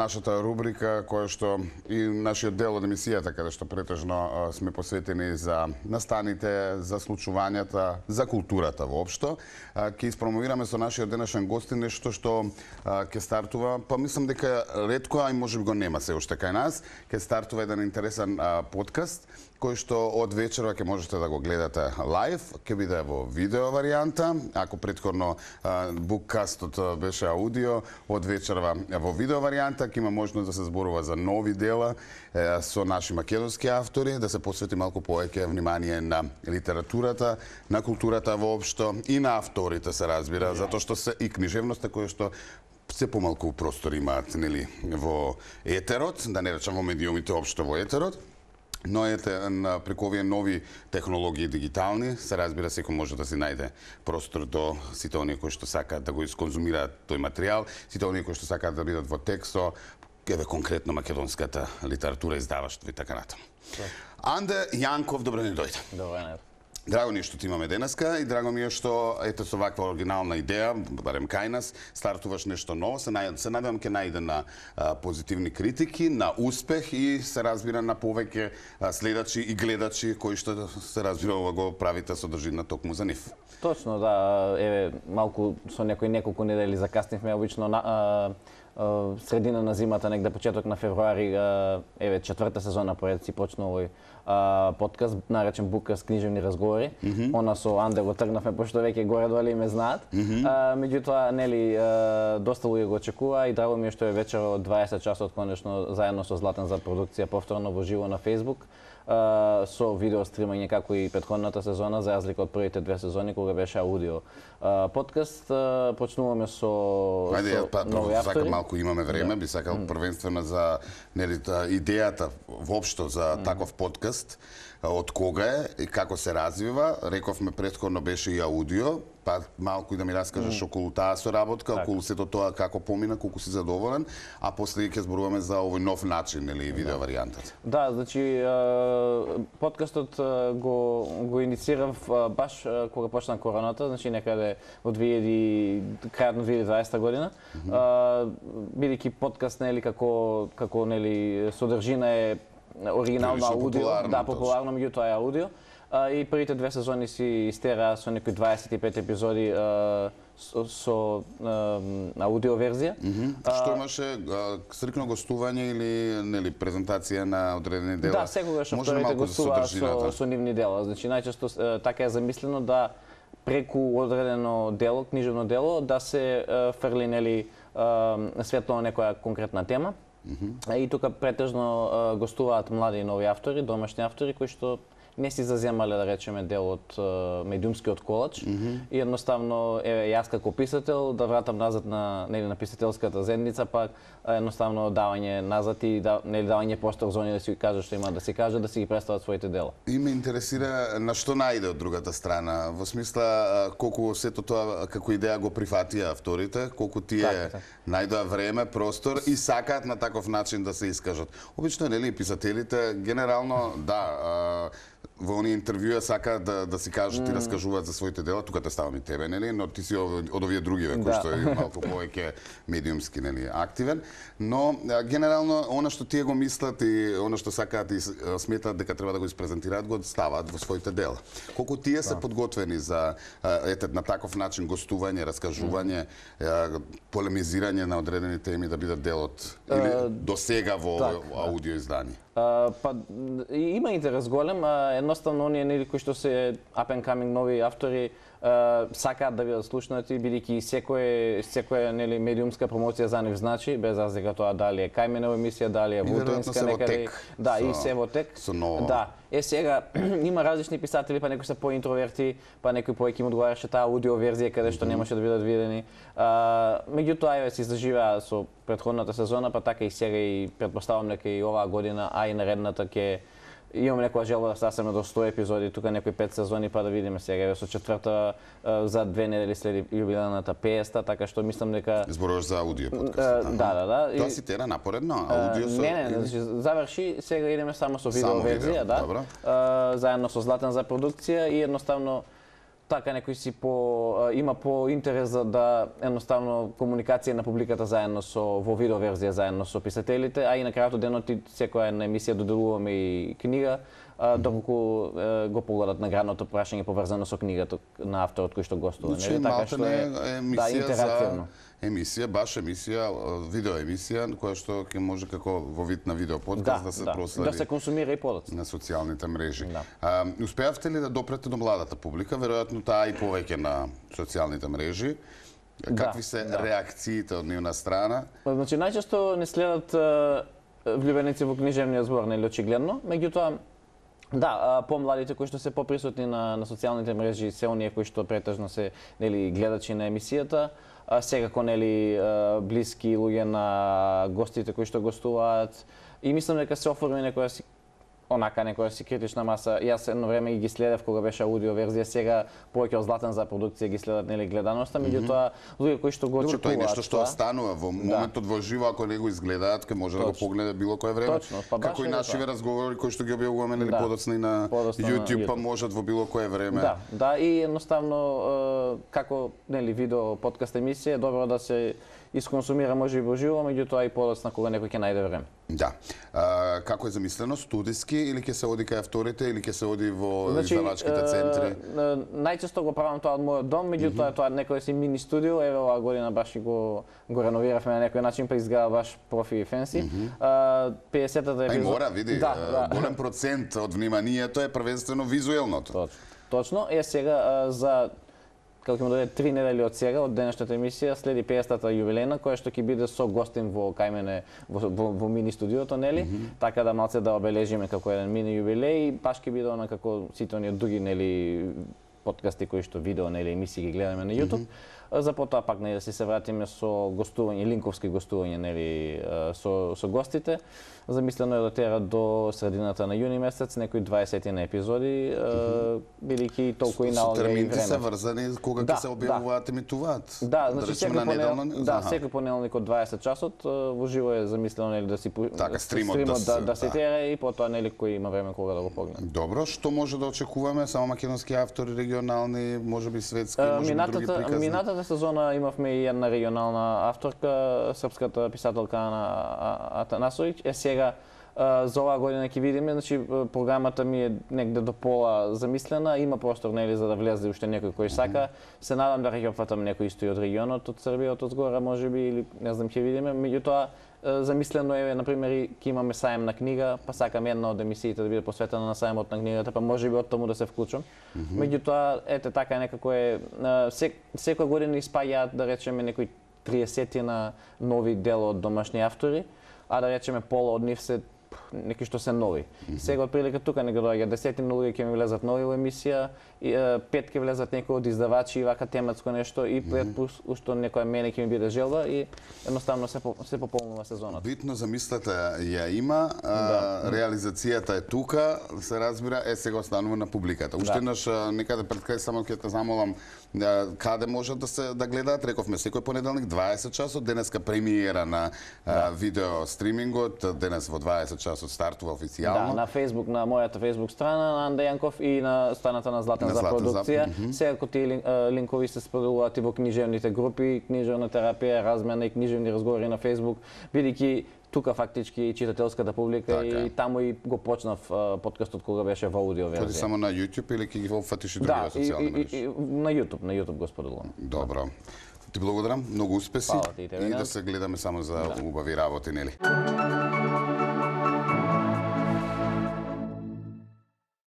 нашата рубрика која што и нашиот дел од емисијата каде што претежно сме посветени за настаните, за случувањата, за културата воопшто. Ќе испромовираме со нашиот денешен гостин нешто што ќе стартува, па мислам дека ретко, а и можеби го нема се уште кај нас, ќе стартува еден интересен подкаст кој што од вечерва ќе можете да го гледате лајв, ќе биде во видео варијанта. Ако претходно буккастот беше аудио, од вечерва во видео варијанта ќе има можност да се зборува за нови дела со наши македонски автори, да се посвети малку повеќе внимание на литературата, на културата воопшто и на авторите се разбира, затоа што се и книжевноста која што се помалку простор имаат, нели, во етерот, да не речам во медиумите општо во етерот. Но преку овие нови технологии дигитални, се разбира секој може да си најде простор до сите оние кои што сакаат да го исконзумираат тој материјал, сите оние кои што сакаат да бидат во тексто, еве конкретно македонската литература, издаваштво и така натаму. Анде Јанков, добро ни дојде. Добро. Драго ми е што ти имаме денеска и драго ми е што ете со ваква оригинална идеја, барем кај нас, стартуваш нешто ново, се надевам ќе најде на позитивни критики, на успех и се разбира на повеќе следачи и гледачи кои што се разбира ова го правите содржина токму за нив. Точно, да, еве малку со неколку недели закаснивме, обично средина на зимата, негде почеток на февруари, еве четврта сезона поред си почна овој подкаст, наречен Буккаст книжевни разговори. Она со Анде го тргнавме, пошто веќе горе-доле ме знаат. Меѓутоа, нели, доста луѓе го очекува и драго ми е што е вечер од 20 часот конечно заедно со Златен за продукција повторно во живо на Facebook со видео стримање како и претходната сезона, за разлика од првите две сезони кога беше аудио подкаст. Почнуваме со нови автори. Малку имаме време, би сакал првенствено за идејата воопшто за таков подкаст, од кога е и како се развива. Рековме претходно беше и аудио, па малку и да ми раскажеш околу таа соработка, околу сето тоа како помина, колку си задоволен, а после ќе зборуваме за овој нов начин или видео варијантата. Да, значи подкастот го инициирав баш кога почна короната, значи некаде во крајот на 2020 година. Бидејќи подкаст нели како нели содржина е оригинално аудио, да, популарно, меѓутоа е аудио. И првите две сезони си истераа со некои 25 епизоди со аудио верзија. Што имаше стрикно гостување или нели презентација на одредени дела? Да, секогаш авторите гостуваа со нивни дела. Значи најчесто така е замислено да преку одредено дело, книжевно дело, да се фрли нели светло на некоја конкретна тема. И тука претежно гостуваат млади и нови автори, домашни автори кои што не си заземале, да речеме, дел од медиумскиот колач. И едноставно, еве, јас како писател, да вратам назад на писателската зедница, пак едноставно давање назад и давање простор за оние да си кажат што има да си кажат, да си ги представат своите дела. И ме интересира на што најде од другата страна, во смисла колку сето тоа како идеја го прифатија авторите, колку тие најдоа време, простор и сакаат на таков начин да се искажат. Обично, нели, писателите генерално, да, во оние интервјуа сакаат да си кажат и раскажуваат за своите дела, тука те ставам и тебе, нели, но ти си од овие другиве кои што е малку повеќе медиумски, нели, активен, но генерално она што тие го мислат и она што сакаат и сметаат дека треба да го испрезентираат, го ставаат во своите дела. Колку тие се подготвени за на таков начин гостување, раскажување, полемизирање на одредени теми да бидат дел од или до сега во аудио издание? Па има интерес голем, едноставно оние нели кои што се up and coming нови автори сакаат да бидат слушнати, бидејќи секоја нели медиумска промоција за нив значи, без разлика тоа дали е кај мене емисија, дали е вултинска некаде. Да, и се во тек. Да. Сега има различни писатели, па некои се поинтроверти, па некои повеќе им одговараше таа аудио верзија каде што немаше да бидат видени. Меѓутоа еве се заживеа со претходната сезона, па така и сега и претпоставам дека и оваа година, а и наредната ќе имам некоја желба да стасеме до 100 епизоди, тука некои 5 сезони, па да видиме сега со четврта за 2 недели след јубилејната 50-та, така што мислам дека зборуваш за аудио подкаст. Да. Тоа си тера напоредно, аудио со Не, заврши, сега идеме само со видео верзија, да. Заедно со Златен за продукција и едноставно така некој си има по интерес за да едноставно комуникација на публиката заедно во видео верзија заедно со писателите, а и на крајот денот секоја една емисија доделуваме и книга, доколку го погледат наградното прашање поврзано со книгата на авторот кој што гостува, нели? Така што е интерактивно. Баш емисија, видео емисија, која што ќе може како во вид на видео подкаст да се проследи. Да се консумира и подоцна. На социјалните мрежи. Успеавте ли да допрете до младата публика? Веројатно таа и повеќе на социјалните мрежи. Какви се реакциите од нивна страна? Значи, најчесто не следат влюбеници во книжевниот збор, нели, очигледно. Меѓутоа, помладите кои што се поприсутни на социјалните мрежи се оние кои што претежно се, нели, гледачи на емисијата, секако, нели, блиски луѓе на гостите кои што гостуваат. И мислам дека се оформи некоја си критична маса. Јас едно време ги следев кога беше аудио верзија, сега повеќе од Златен за продукција ги следат, нели, гледаноста, меѓутоа луѓе кои што го очекуваат. Тоа е нешто што останува во моментот во живо, ако не го изгледаат, ќе може да го погледа било кое време. Како и нашиве разговори кои што ги објавуваме, нели, подоцна и на YouTube, па можат во било кое време. Да, и едноставно како, нели, видео подкаст емисија, добро да се исконсумира може и во живо, меѓутоа и подоцна кога некој ќе најде време. Да. Како е замислено, студиски или ќе се оди кај авторите или ќе се оди во издавачките центри? Најчесто го правам тоа од мојот дом, меѓутоа тоа некој си мини студио, еве оваа година баш и го реновиравме на некој начин, па изгледа баш профи и фенси. 50-та епизода. Мора, види, голем процент од вниманието е првенствено визуелното. Точно. Сега за како ќе му дојде 3 недели од сега, од денешната емисија, следи 50-та јубилејна, која што ќе биде со гостин кај мене во мини студиото, нели? Така да малце да обележиме како еден мини јубилеј и баш ќе биде она како сите оние други, нели, подкасти кои што видео, нели, емисии ги гледаме на YouTube. За потоа пак да се вратиме со гостување, линковски гостување, нели, со гостите. Замислено е да тера до средината на јуни месец, некои 20 на епизоди, бидејќи толку и налога и време. Термините се врзани кога ќе се објавуваат, емитуваат? Да, значи секој понеделник од 20 часот во живо е замислено, нели, да си стримот да се тера и потоа, нели, кој има време кога да го погледа. Добро, што може да очекуваме? Само македонски автори, регионални, можеби светски, можеби други приказни? Минатата сезона имавме и една регионална авторка, српската писателка Ана Атанасовиќ. Сега за оваа година ќе видиме, значи програмата ми е негде до пола замислена, има простор, нели, за да влезе уште некој кој сака. Се надам да ќе опфатам некој исто и од регионот, од Србија, од згора можеби, или не знам, ќе видиме. Меѓутоа замислено е, например, ќе имаме сајм на книга, па сакам една од емисиите да биде посветена на сајмот на книгата, па можеби од таму да се вклучам. Меѓутоа, ете така некако е, секоја година испаѓаат, да речеме, некои 30 нови дела од домашни автори, а да речеме пола од нив се неки што се нови. Сега отприлика тука не го доаѓа 10 луѓе ќе ми влезат нови во емисија, 5 ќе влезат некои од издавачи и вака тематско нешто и пред ушто некоја мене ќе ми биде желба и едноставно се пополнува сезонот. Битно замислата ја има, реализацијата е тука, се разбира, сега останува на публиката. Уште еднаш некаде пред крај само ќе те замолам каде можат да гледаат, рековме секој понеделник 20 часот, денеска премиера на видео стримингот, денес во 20 часот стартува официјално. Да, на Facebook, на мојата Facebook страна на Анда Јанков и на страната на Златен за продукција. Секако тие линкови се споделуваат и во книжевните групи, книжевна терапија, размена и книжевни разговори на Facebook, бидејќи тука фактички читателската публика и таму и го почнав подкастот кога беше во аудио верзија. Тоа само на YouTube или ќе ги опфатиш и други социјални мрежи? На YouTube го споделувам. Добро. Ти благодарам, многу успеси и да се гледаме само за убави работи, нели?